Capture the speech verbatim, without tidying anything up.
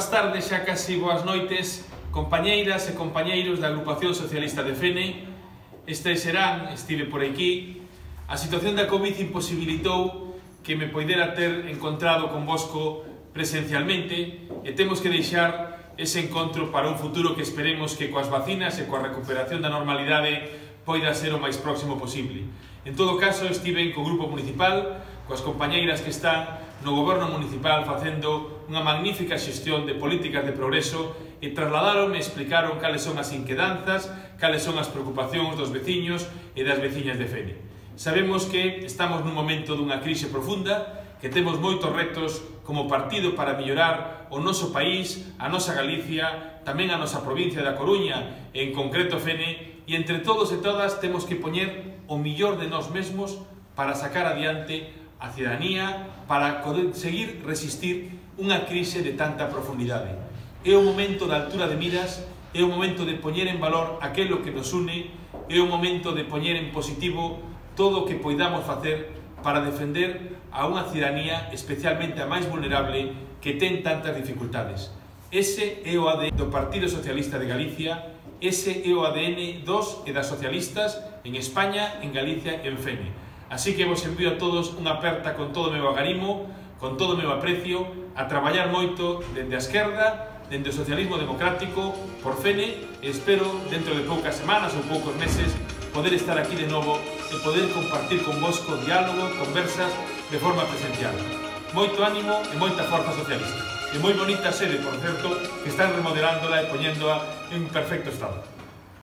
boas tardes, xa casi boas noites, compañeiras e compañeiros da Agrupación Socialista de Fene. Este serán, estive por aquí. A situación da Covid imposibilitou que me poidera ter encontrado convosco presencialmente e temos que deixar ese encontro para un futuro que esperemos que coas vacinas e coa recuperación da normalidade poida ser o máis próximo posible. En todo caso, estive co grupo municipal, coas compañeiras que están no goberno municipal facendo unha magnífica xestión de políticas de progreso e trasladaron e explicaron cales son as inquedanzas, cales son as preocupacións dos veciños e das veciñas de Fene. Sabemos que estamos nun momento dunha crise profunda, que temos moitos retos como partido para mellorar o noso país, a nosa Galicia, tamén a nosa provincia da Coruña, e en concreto Fene, e entre todos e todas temos que poñer o millor de nós mesmos para sacar adiante a cidadanía, para conseguir resistir unha crise de tanta profundidade. É o momento da altura de miras, é o momento de poñer en valor aquilo que nos une, é o momento de poñer en positivo todo o que poidamos facer para defender a unha cidadanía, especialmente a máis vulnerable, que ten tantas dificultades. Ese é o A D N do Partido Socialista de Galicia, ese é o A D N dos e das socialistas en España, en Galicia e en Fene. Así que vos envío a todos unha aperta con todo o meu agarimo, con todo o meu aprecio, a traballar moito dende a esquerda, dende o socialismo democrático, por Fene, e espero, dentro de poucas semanas ou poucos meses, poder estar aquí de novo e poder compartir convosco diálogo, conversas, de forma presencial. Moito ánimo e moita forza socialista. E moi bonita sede, por certo, que están remodelándola e poñéndoa en perfecto estado.